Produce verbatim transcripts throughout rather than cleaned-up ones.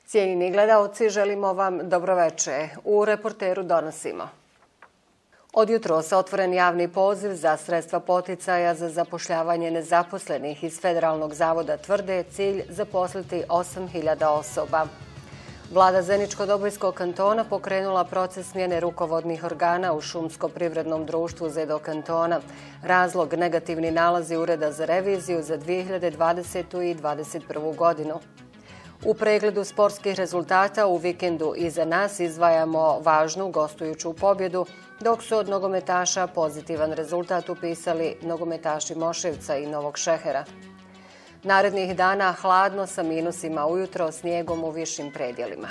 Cijenjeni gledaoci, želimo vam dobroveče. U Reporteru donosimo. Od jutros otvoren javni poziv za sredstva poticaja za zapošljavanje nezaposlenih iz Federalnog zavoda tvrde cilj zaposliti osam hiljada osoba. Vlada Zeničko-Dobojskog kantona pokrenula proces smjene rukovodnih organa u Šumsko-privrednom društvu Zedo kantona. Razlog negativni nalazi Ureda za reviziju za dvije hiljade dvadesetu. i dvadeset prvu. godinu. U pregledu sportskih rezultata u vikendu iza nas izdvajamo važnu gostujuću pobjedu, dok su od nogometaša pozitivan rezultat upisali nogometaši Moševca i Novog Šehera. Narednih dana hladno sa minusima ujutro, snijegom u višim predjelima.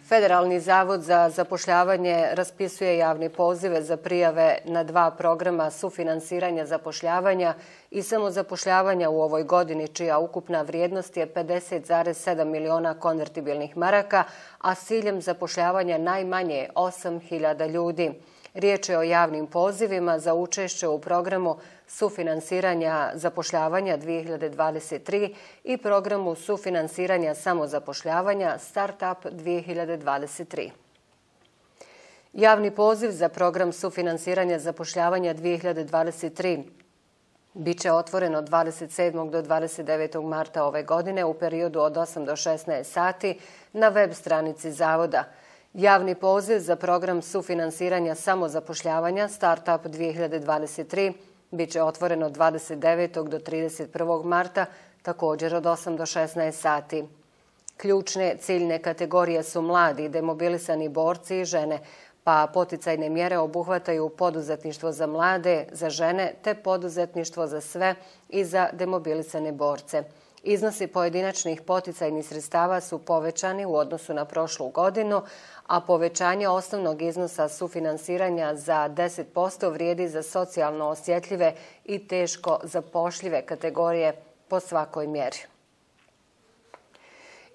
Federalni zavod za zapošljavanje raspisuje javne pozive za prijave na dva programa sufinansiranja zapošljavanja i samozapošljavanja u ovoj godini, čija ukupna vrijednost je pedeset zarez sedam miliona konvertibilnih maraka, a s ciljem zapošljavanja najmanje osam hiljada ljudi. Riječ je o javnim pozivima za učešće u programu sufinansiranja zapošljavanja dvije hiljade dvadeset tri i programu sufinansiranja samozapošljavanja Startup dvije hiljade dvadeset tri. Javni poziv za program sufinansiranja zapošljavanja dvije hiljade dvadeset tri biće otvoren od dvadeset sedmog do dvadeset devetog marta ove godine u periodu od osam do šesnaest sati na web stranici Zavoda. Javni poziv za program sufinansiranja samozapošljavanja Startup dvije hiljade dvadeset tri biće otvoren od dvadeset devetog do trideset prvog marta, također od osam do šesnaest sati. Ključne ciljne kategorije su mladi, demobilisani borci i žene, pa poticajne mjere obuhvataju poduzetništvo za mlade, za žene, te poduzetništvo za sve i za demobilisane borce. Iznosi pojedinačnih poticajnih sredstava su povećani u odnosu na prošlu godinu, a povećanje osnovnog iznosa sufinansiranja za deset posto vrijedi za socijalno osjetljive i teško zapošljive kategorije po svakoj mjeri.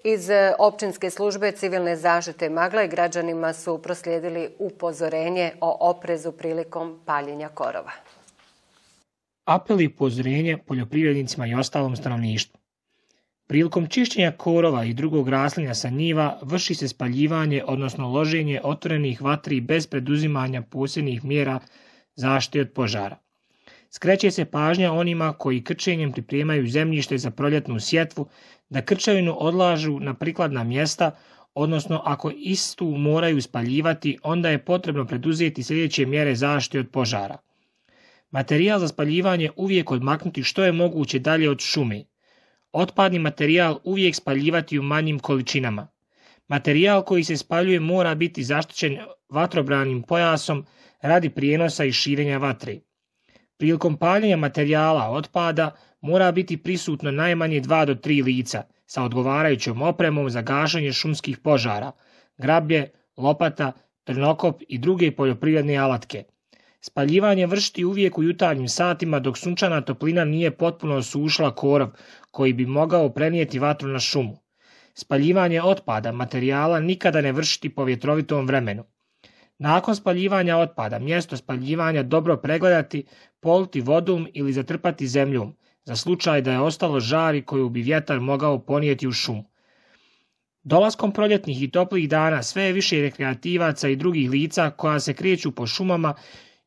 Iz općinske službe civilne zaštite Magle građanima su proslijedili upozorenje o oprezu prilikom paljenja korova. Apel i upozorenje poljoprivrednicima i ostalom stanovništvu. Prilikom čišćenja korova i drugog raslinja sa njiva vrši se spaljivanje, odnosno loženje otvorenih vatri bez preduzimanja posebnih mjera zaštite od požara. Skreće se pažnja onima koji krčenjem pripremaju zemljište za proljetnu sjetvu da krčevinu odlažu na prikladna mjesta, odnosno ako istu moraju spaljivati, onda je potrebno preduzeti sljedeće mjere zaštite od požara. Materijal za spaljivanje uvijek odmaknuti što je moguće dalje od šume. Otpadni materijal uvijek spaljivati u manjim količinama. Materijal koji se spaljuje mora biti zaštićen vatrobranim pojasom radi prijenosa i širenja vatre. Prilikom paljenja materijala otpada mora biti prisutno najmanje dva do tri lica sa odgovarajućom opremom za gašenje šumskih požara, grablje, lopata, trnokop i druge poljoprivredne alatke. Spaljivanje vršiti uvijek u jutarnjim satima dok sunčana toplina nije potpuno osušila korov koji bi mogao prenijeti vatru na šumu. Spaljivanje otpada materijala nikada ne vršiti po vjetrovitom vremenu. Nakon spaljivanja otpada mjesto spaljivanja dobro pregledati, politi vodom ili zatrpati zemljom za slučaj da je ostalo žari koju bi vjetar mogao ponijeti u šumu. Dolaskom proljetnih i toplih dana sve je više rekreativaca i drugih lica koja se kreću po šumama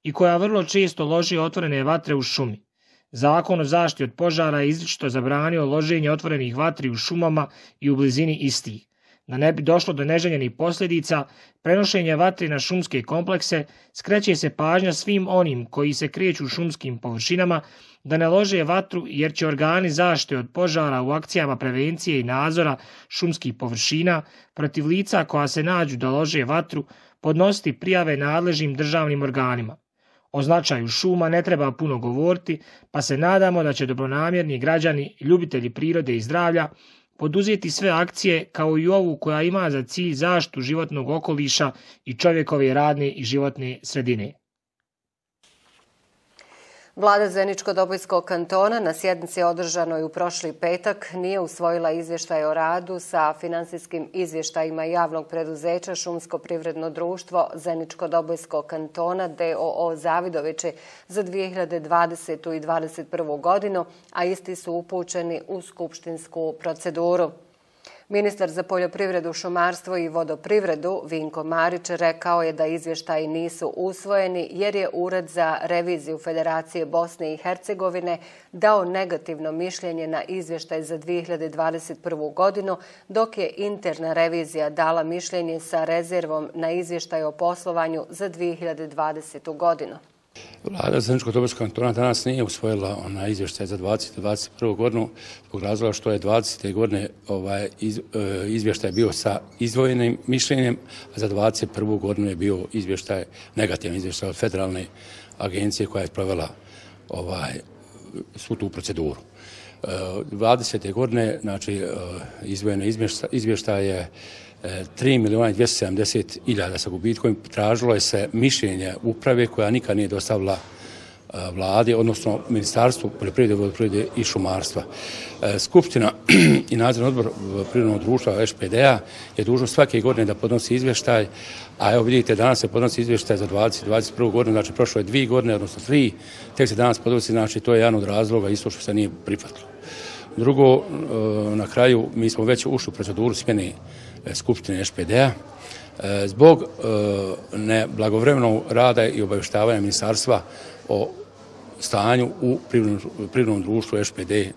i koja vrlo često loži otvorene vatre u šumi. Zakon o zaštiti od požara je izričito zabranio loženje otvorenih vatri u šumama i u blizini istih. Da ne bi došlo do neželjenih posljedica, prenošenja vatri na šumske komplekse, skreće se pažnja svim onim koji se kreću u šumskim površinama da ne lože vatru jer će organi zaštite od požara u akcijama prevencije i nadzora šumskih površina protiv lica koja se nađu da lože vatru podnositi prijave nadležnim državnim organima. O značaju šuma ne treba puno govoriti, pa se nadamo da će dobronamjerni građani, ljubitelji prirode i zdravlja poduzeti sve akcije kao i ovu koja ima za cilj zaštitu životnog okoliša i čovjekove radne i životne sredine. Vlada Zeničko-Dobojskog kantona na sjednici održanoj u prošli petak nije usvojila izvještaj o radu sa finansijskim izvještajima javnog preduzeća Šumsko privredno društvo Zeničko-Dobojskog kantona d o o Zavidovići za dvije hiljade dvadesetu. i dvadeset prvu. godinu, a isti su upućeni u skupštinsku proceduru. Ministar za poljoprivredu, šumarstvo i vodoprivredu Vinko Marić rekao je da izvještaji nisu usvojeni jer je Ured za reviziju Federacije Bosne i Hercegovine dao negativno mišljenje na izvještaj za dvije hiljade dvadeset prvu godinu, dok je interna revizija dala mišljenje sa rezervom na izvještaj o poslovanju za dvije hiljade dvadesetu godinu. Vlada Zeničko-Dobojskog kantona danas nije usvojila onaj izvještaj za dvadesetu i dvadeset prvu godinu zbog razloga što je dvadesete godine ovaj iz, e, izvještaj bio sa izdvojenim mišljenjem, a za dvadeset prvu godinu je bio izvještaj, negativan izvještaj od federalne agencije koja je provela ovaj, svu tu proceduru. E, dvadesete godine, znači, e, izdvojene izvještaje tri milijuna dvjesto sedamdeset hiljada sa gubitkom, tražilo je se mišljenje uprave koja nikad nije dostavila vladi, odnosno Ministarstvu poljoprivrede, vodoprivrede i šumarstva. Skupština i nadzorni odbor privrednog društva Š P D-a je dužno svake godine da podnosi izvještaj, a evo vidite, danas se podnosi izvještaj za dvadesetu i dvadeset prvu godinu, znači prošlo je dvije godine, odnosno tri, tek se danas podnosi, znači to je jedan od razloga isto što se nije prihvatilo. Drugo, na kraju, mi smo već ušli u proceduru smjene Skupštine Š P D-a zbog neblagovremenog rada i obavještavanja ministarstva o stanju u privrednom društvu Š P D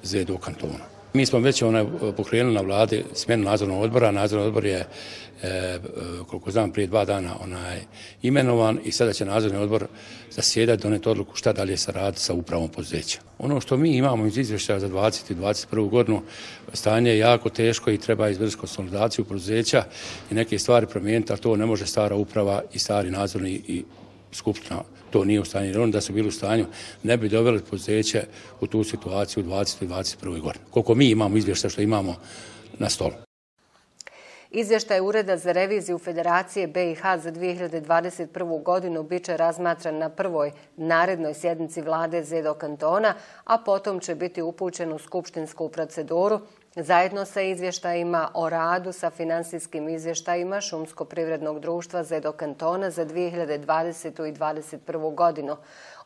Z D kantona. Mi smo već onaj, pokrenuli na vladi smjenu nadzornog odbora. Nadzorni odbor je, e, koliko znam, prije dva dana onaj, imenovan i sada će nadzorni odbor zasjedati, doneti odluku šta dalje se radi sa upravom poduzeća. Ono što mi imamo iz izvještaja za dvadesetu i dvadeset prvu godinu, stanje je jako teško i treba izvršiti konsolidaciju poduzeća i neke stvari promijeniti, a to ne može stara uprava i stari nadzorni i skupština. To nije u stanju, jer oni da su bili u stanju ne bi doveli poduzeće u tu situaciju u dvadesetoj i dvadeset prvoj godini. Koliko mi imamo izvještaja što imamo na stolu. Izvještaj Ureda za reviziju Federacije B i H za dvije hiljade dvadeset prvu godinu biće razmatran na prvoj narednoj sjednici vlade Z D kantona, a potom će biti upućen u skupštinsku proceduru zajedno sa izvještajima o radu sa finansijskim izvještajima Šumsko-privrednog društva Z D kantona za dvije hiljade dvadesetu i dvadeset prvu godinu.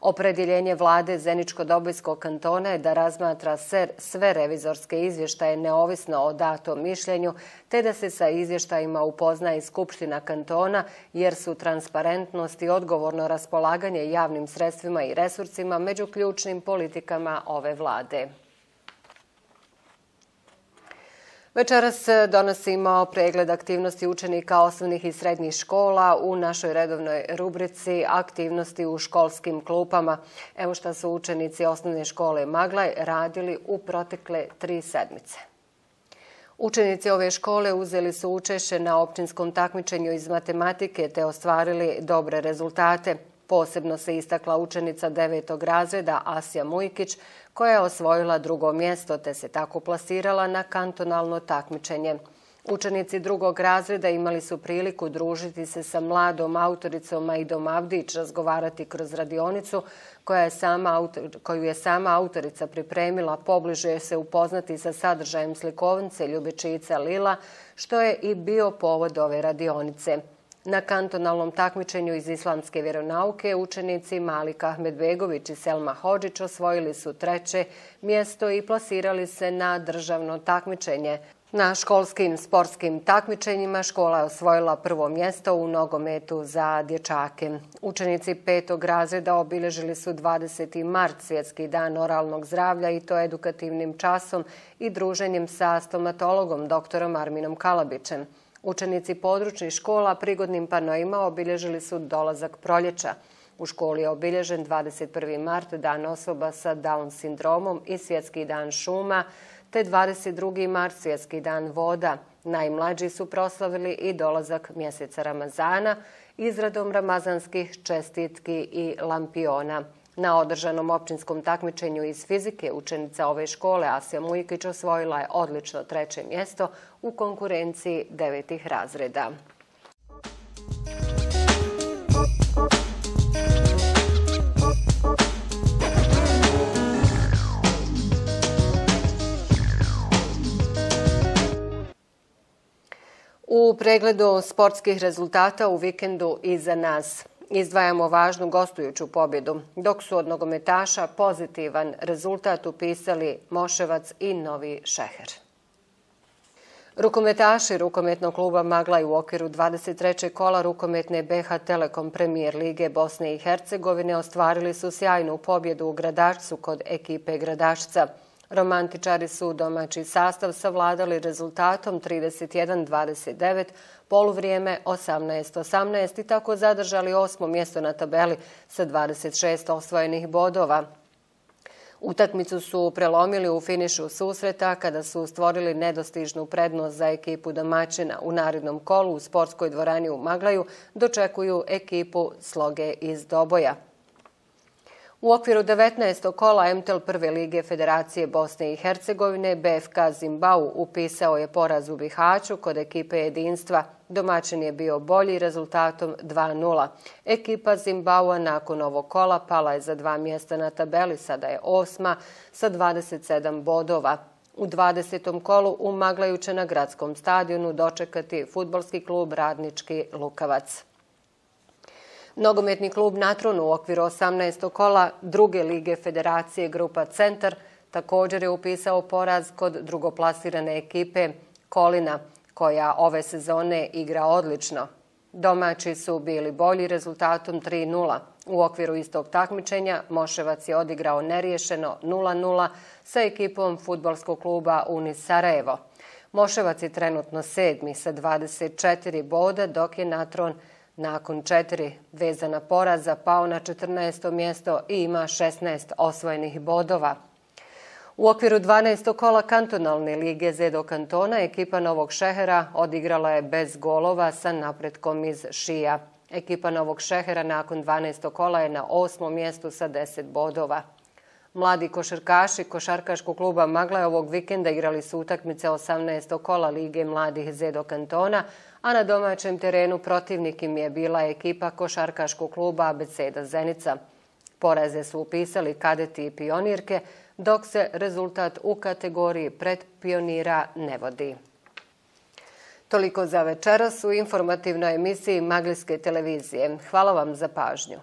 Opredjeljenje vlade Zeničko-Dobojskog kantona je da razmatra sve revizorske izvještaje neovisno o datom mišljenju, te da se sa izvještajima upozna i Skupština kantona, jer su transparentnost i odgovorno raspolaganje javnim sredstvima i resursima među ključnim politikama ove vlade. Večeras donosimo pregled aktivnosti učenika osnovnih i srednjih škola u našoj redovnoj rubrici aktivnosti u školskim klupama. Evo šta su učenici osnovne škole Maglaj radili u protekle tri sedmice. Učenici ove škole uzeli su učešće na općinskom takmičenju iz matematike te ostvarili dobre rezultate. Posebno se istakla učenica devetog razreda Asja Mujkić, koja je osvojila drugo mjesto te se tako plasirala na kantonalno takmičenje. Učenici drugog razreda imali su priliku družiti se sa mladom autoricom Majdom Avdić, razgovarati kroz radionicu koja je sama, koju je sama autorica pripremila, pobliže se upoznati sa sadržajem slikovnice Ljubičica Lila, što je i bio povod ove radionice. Na kantonalnom takmičenju iz islamske vjeronauke učenici Malik Ahmedbegović i Selma Hodžić osvojili su treće mjesto i plasirali se na državno takmičenje. Na školskim sportskim takmičenjima škola je osvojila prvo mjesto u nogometu za dječake. Učenici petog razreda obilježili su dvadeseti mart, svjetski dan oralnog zdravlja, i to edukativnim časom i druženjem sa stomatologom doktorom Arminom Kalabićem. Učenici područnih škola prigodnim panoima obilježili su dolazak proljeća. U školi je obilježen dvadeset prvi mart, dan osoba sa Down sindromom i svjetski dan šuma, te dvadeset drugi mart, svjetski dan voda. Najmlađi su proslavili i dolazak mjeseca Ramazana izradom ramazanskih čestitki i lampiona. Na održanom općinskom takmičenju iz fizike učenica ove škole Asja Mujkić osvojila je odlično treće mjesto u konkurenciji devetih razreda. U pregledu sportskih rezultata u vikendu iza nas izdvajamo važnu gostujuću pobjedu, dok su od nogometaša pozitivan rezultat upisali Moševac i Novi Šeher. Rukometaši rukometnog kluba Maglaj u okviru dvadeset trećeg kola rukometne B H Telekom Premijer Lige Bosne i Hercegovine ostvarili su sjajnu pobjedu u Gradačcu kod ekipe Gradačca. Romantičari su domaći sastav savladali rezultatom trideset jedan dvadeset devet, poluvrijeme osamnaest osamnaest i tako zadržali osmo mjesto na tabeli sa dvadeset šest osvojenih bodova. Utakmicu su prelomili u finišu susreta kada su stvorili nedostižnu prednost za ekipu domaćina. U narednom kolu u sportskoj dvorani u Maglaju dočekuju ekipu Sloge iz Doboja. U okviru devetnaestog kola M T L prve lige Federacije Bosne i Hercegovine B F K Zimbau upisao je poraz u Bihaću kod ekipe Jedinstva. Domaćin je bio bolji rezultatom dva nula. Ekipa Zimbaua nakon ovog kola pala je za dva mjesta na tabeli, sada je osma sa dvadeset sedam bodova. U dvadesetom kolu u Maglaju će na gradskom stadionu dočekati fudbalski klub Radnički Lukavac. Nogometni klub Natron u okviru osamnaestog kola druge lige Federacije Grupa Centar također je upisao poraz kod drugoplasirane ekipe Kolina, koja ove sezone igra odlično. Domaći su bili bolji rezultatom tri nula. U okviru istog takmičenja Moševac je odigrao neriješeno nula nula sa ekipom fudbalskog kluba Unis Sarajevo. Moševac je trenutno sedmi sa dvadeset četiri boda, dok je Natron nakon četiri vezana poraza pao na četrnaesto mjesto i ima šesnaest osvojenih bodova. U okviru dvanaestog kola kantonalne lige Zedo kantona ekipa Novog Šehera odigrala je bez golova sa napretkom iz Šija. Ekipa Novog Šehera nakon dvanaestog kola je na osmom mjestu sa deset bodova. Mladi košarkaši košarkaškog kluba Maglaj ovog vikenda igrali su utakmice osamnaestog kola lige mladih Zedo kantona, a na domaćem terenu protivnik im je bila ekipa košarkaškog kluba Abeceda Zenica. Poraze su upisali kadeti i pionirke, dok se rezultat u kategoriji predpionira ne vodi. Toliko za večeras u informativnoj emisiji Maglijske televizije. Hvala vam za pažnju.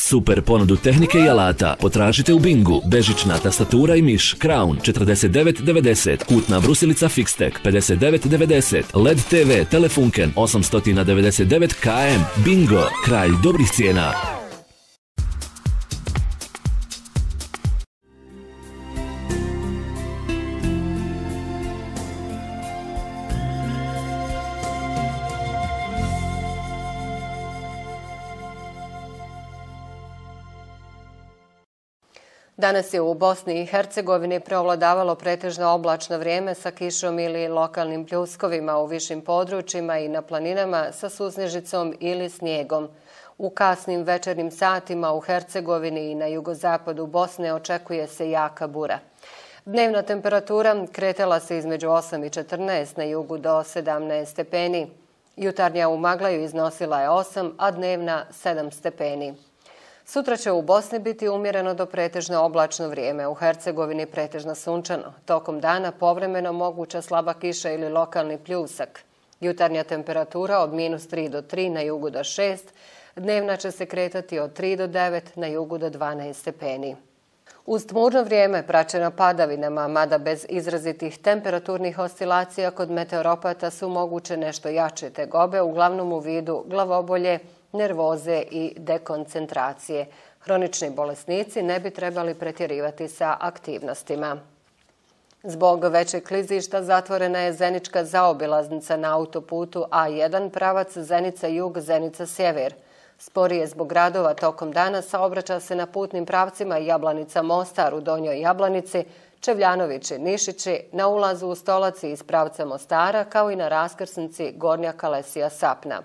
Super ponudu tehnike i alata potražite u Bingu. Bežična tastatura i miš Crown četrdeset devet devedeset, kutna brusilica Fixtec pedeset devet devedeset, L E D T V Telefunken osamsto devedeset devet K M. Bingo, kralj dobrih cijena. Danas je u Bosni i Hercegovini preovladavalo pretežno oblačno vrijeme sa kišom ili lokalnim pljuskovima u višim područjima i na planinama sa susnežicom ili snijegom. U kasnim večernjim satima u Hercegovini i na jugozapadu Bosne očekuje se jaka bura. Dnevna temperatura kretala se između osam i četrnaest, na jugu do sedamnaest stepeni. Jutarnja u Maglaju iznosila je osam, a dnevna sedam stepeni. Sutra će u Bosni biti umjereno do pretežno oblačno vrijeme, u Hercegovini pretežno sunčano. Tokom dana povremeno moguća slaba kiša ili lokalni pljusak. Jutarnja temperatura od minus tri do tri, na jugu do šest, dnevna će se kretati od tri do devet, na jugu do dvanaest stepeni. Uz tmurno vrijeme praćeno padavinama, mada bez izrazitih temperaturnih oscilacija, kod meteoropata su moguće nešto jače tegobe, uglavnom u vidu glavobolje, nervoze i dekoncentracije. Hronični bolesnici ne bi trebali pretjerivati sa aktivnostima. Zbog većeg klizišta zatvorena je Zenička zaobilaznica na autoputu A jedan pravac Zenica-Jug, Zenica-Sjever. Sporije zbog radova tokom dana saobraća se na putnim pravcima Jablanica-Mostar u Donjoj Jablanici, Čevljanovići-Nišići, na ulazu u Stolaci iz pravca Mostara, kao i na raskrsnici Gornja Kalesija-Sapna.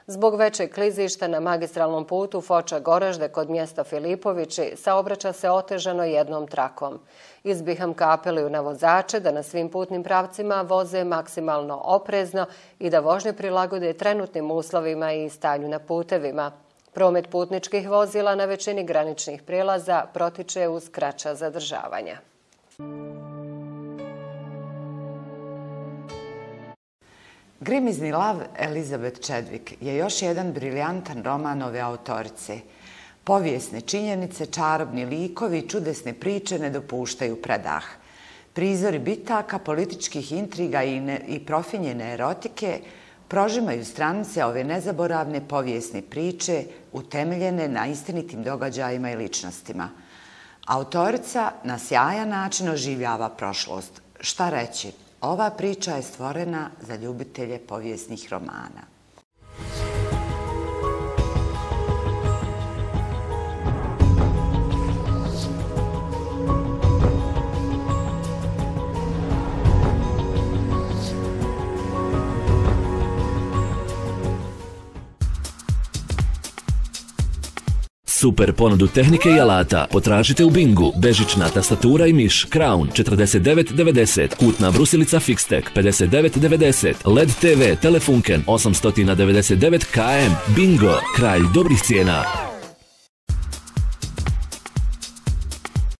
Zbog većeg klizišta na magistralnom putu Foča-Goražde kod mjesta Filipovići saobraća se otežano jednom trakom. Izbiham kapeliju na vozače da na svim putnim pravcima voze maksimalno oprezno i da vožnje prilagode trenutnim uslovima i stanju na putevima. Promet putničkih vozila na većini graničnih prijelaza protiče uz kraća zadržavanja. Grimizni lav Elizabeth Chadwick je još jedan briljantan roman ove autorice. Povijesne činjenice, čarobni likovi i čudesne priče ne dopuštaju predah. Prizori bitaka, političkih intriga i, ne, i profinjene erotike prožimaju stranice ove nezaboravne povijesne priče utemeljene na istinitim događajima i ličnostima. Autorica na sjajan način oživljava prošlost. Šta reći? Ova priča je stvorena za ljubitelje povijesnih romana. Super ponudu tehnike i alata potražite u Bingu. Bežična tastatura i miš Crown četrdeset devet devedeset, kutna brusilica Fixtec pedeset devet devedeset, L E D te ve Telefunken osamsto devedeset devet K M. Bingo, kralj dobrih cijena.